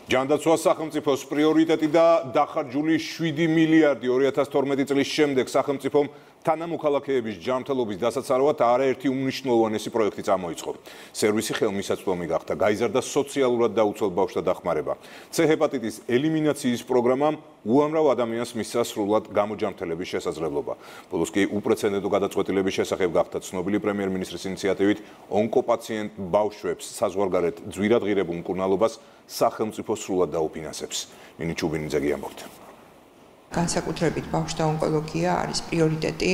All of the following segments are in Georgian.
ჯანდაცვას სახელმწიფოს პრიორიტეტი და დახარჯული 7 მილიარდი 2012 წლის შემდეგ სახელმწიფომ თანამოქალაქეების ჯანმრთელობის დასაცავად არაერთი უმნიშვნელოვანესი პროექტი წამოიწყო. სერვისი ხელმისაწვდომი გახდა, გაიზარდა სოციალურად დაუცველ ბავშვთა დახმარება. C ჰეპატიტის ელიმინაციის პროგრამამ უამრავ ადამიანს მისცა სრულად გამოჯანმრთელების შესაძლებლობა. ბოლოს კი უპრეცედენტო გადაწყვეტილების შესახებ გახდა ცნობილი პრემიერ-მინისტრის ინიციატივით ონკოპაციენტ ბავშვებს საზღვარგარეთ ძვირად ღირებულ მკურნალობას სახელმწიფო სრულად დაუფინანსებს. ნინი ჩუბინიძე გიამბობთ. განსაკუთრებით ბავშვთა ონკოლოგია არის პრიორიტეტი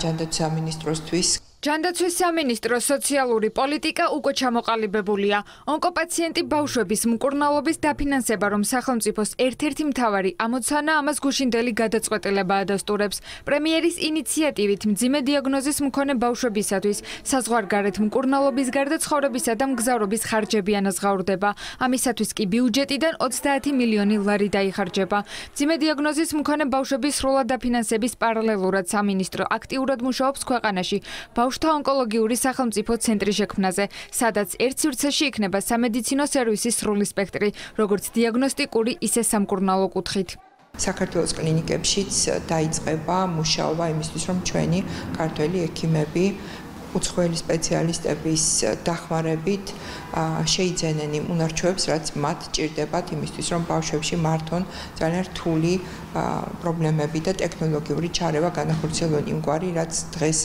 ჯანდაცვის სამინისტროსთვის. ჯანდაცვის სამინისტროს სოციალური პოლიტიკა უკვე ჩამოყალიბებულია. ონკოპაციენტი ბავშვების მკურნალობის დაფინანსება, რომ სახელმწიფოს ერთ-ერთი მთავარი ამოცანა, ამას გუშინდელი გადაწყვეტილება ადასტურებს. პრემიერის ინიციატივით მძიმე დიაგნოზის მქონე ბავშვებისათვის საზღვარგარეთ მკურნალობის გარდა ცხოვრებისა და მგზავრობის ხარჯები ანაზღაურდება. ამისათვის კი ბიუჯეტიდან 30 მილიონი ლარი დაიხარჯება. მძიმე დიაგნოზის მქონე ბავშვების სრულად დაფინანსების პარალელურად სამინისტრო აქტიურად მუშაობს ქვეყანაში. ბავშვთა ონკოლოგიური სახელმწიფო ცენტრი შექმნაზე, სადაც ერთ სივრცეში იქნება სამედიცინო სერვისის სრული სპექტრი, როგორც დიაგნოსტიკური, ისე სამკურნალო კუთხით. საქართველოს კლინიკებშიც დაიწყება მუშაობა იმისთვის, რომ ჩვენი ქართველი ექიმები უცხოელი სპეციალისტების დახმარებით შეიძენენ იმ უნარჩვევებს, რაც მათ ჭირდებათ იმისთვის, რომ ბავშვებში მართონ ძალიან რთული პრობლემები და ტექნოლოგიური ჩარევა განახორციელონ იმგვარი, რაც დღეს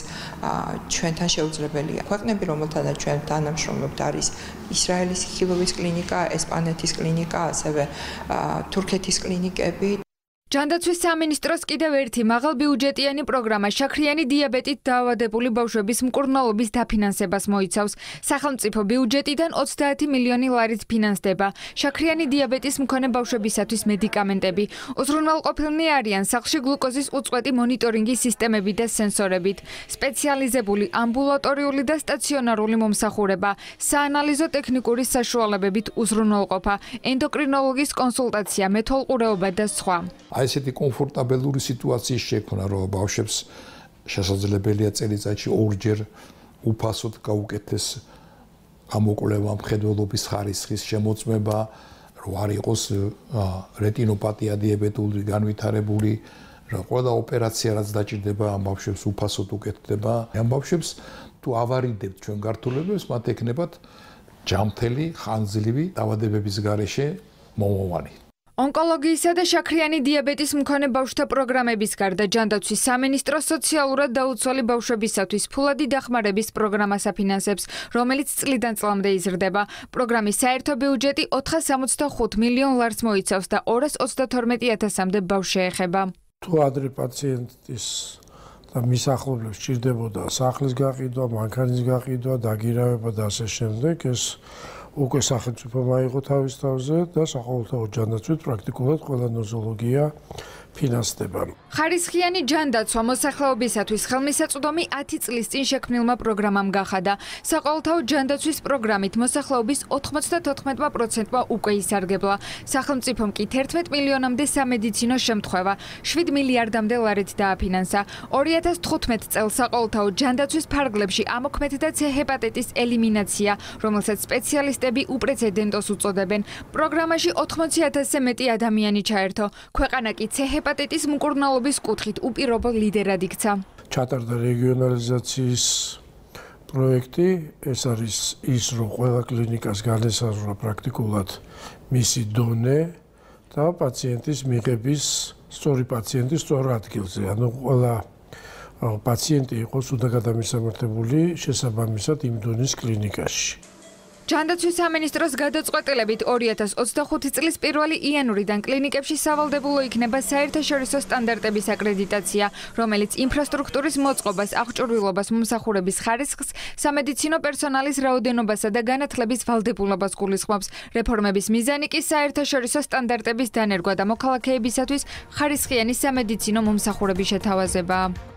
ჩვენთან შეუძლებელია. ქვეყნები, რომელთანაც ჩვენ თანამშრომლობთ, არის ისრაელის ხილოვის კლინიკა, ესპანეთის კლინიკა, ასევე თურქეთის კლინიკები. ჯანდაცვის სამინისტროს კიდევ ერთი მაღალბიუჯეტიანი პროგრამა შაქრიანი დიაბეტით დაავადებული ბავშვების მკურნალობის დაფინანსებას მოიცავს. სახელმწიფო ბიუჯეტიდან 30 მილიონი ლარით ფინანსდება. შაქრიანი დიაბეტის მქონე ბავშვებისათვის მედიკამენტები. უზრუნველყოფილნი არიან სახლში გლუკოზის უწყვეტი მონიტორინგის სისტემები და სენსორებით. სპეციალიზებული ამბულატორიული და სტაციონარული მომსახურება, საანალიზო ტექნიკური საშუალებებით უზრუნველყოფა, ენდოკრინოლოგის კონსულტაცია, მეთვალყურეობა და სხვა. ესეთი კომფორტაბელური სიტუაციის შექმნა, რომ ბავშვებს შესაძლებელია წელიწადში ორჯერ უფასოდ გაუკეთეს გამოკვლევა, მხედველობის ხარისხის შემოწმება, რომ არ იყოს რეტინოპათია დიაბეტური განვითარებული, რომ ყველა ოპერაცია რაც დაჭირდება ამ ბავშვებს უფასოდ უკეთდება. ამ ბავშვებს თუ ავარიდებთ ჩვენ გართულებებს, მათ ექნებათ ჯანმრთელი, ხანგრძლივი დაავადებების გარეშე მომავალი. ონკოლოგიისა და შაქრიანი დიაბეტის მქონე ბავშვთა პროგრამების გარდა ჯანდაცვის სამინისტრო სოციალურად დაუცველი ბავშვებისათვის ფულადი დახმარების პროგრამას აფინანსებს, რომელიც წლიდან წლამდე იზრდება. პროგრამის საერთო ბიუჯეტი 465 მილიონ ლარს მოიცავს და 232,000-მდე ბავშვს შეეხება. თუ ადრე პაციენტის და მის ახლობლებს სჭირდებოდა სახლის გაყიდვა, მანქანის გაყიდვა, დაგირავება და ასე შემდეგ, ეს უკვე სახელმწიფო მაიღო თავის თავზე და საყოველთაო ჯანდაცვით პრაქტიკულად ყველა ნოზოლოგია ფინანსდება. ხარისხიანი ჯანდაცვა მოსახლეობისათვის ხელმისაწვდომი 10 წლის წინ შექმნილმა პროგრამამ გახადა. საყოველთაო ჯანდაცვის პროგრამით მოსახლეობის 94%-მა უკვე ისარგებლა. სახელმწიფომ კი 11 მილიონამდე სამედიცინო შემთხვევა 7 მილიარდამდე ლარით დააფინანსა. 2015 წელს საყოველთაო ჯანდაცვის ფარგლებში ამოქმედდა C ჰეპატიტის ელიმინაცია, რომელსაც სპეციალისტები უპრეცედენტოს უწოდებენ. პროგრამაში 80,000-ზე მეტი ადამიანი ჩაერთო. ქვეყანა კი C ჰეპატიტის მკურნალობის კუთხით უპირობო ლიდერად იქცა. ჩატარდა რეგიონალიზაციის პროექტი, ეს არის ის, რომ ყველა კლინიკას განესაზღვრა პრაქტიკულად მისი დონე და პაციენტის მიღების სწორი პაციენტის სწორ ადგილზე. ანუ ყველა პაციენტი იყოს უდაგადამისამართებული შესაბამისად იმ დონის კლინიკაში. ჯანდაცვის სამინისტროს გადაწყვეტილებით 2025 წლის 1 იანვრიდან კლინიკებში სავალდებულო იქნება საერთაშორისო სტანდარტების აკრედიტაცია, რომელიც ინფრასტრუქტურის მოწყობას, აღჭურვილობას, მომსახურების ხარისხს, სამედიცინო პერსონალის რაოდენობასა და განათლების ვალდებულობას გულისხმობს. რეფორმების მიზანი კი საერთაშორისო სტანდარტების დანერგვა და მოქალაქეებისათვის ხარისხიანი სამედიცინო მომსახურების შეთავაზებაა.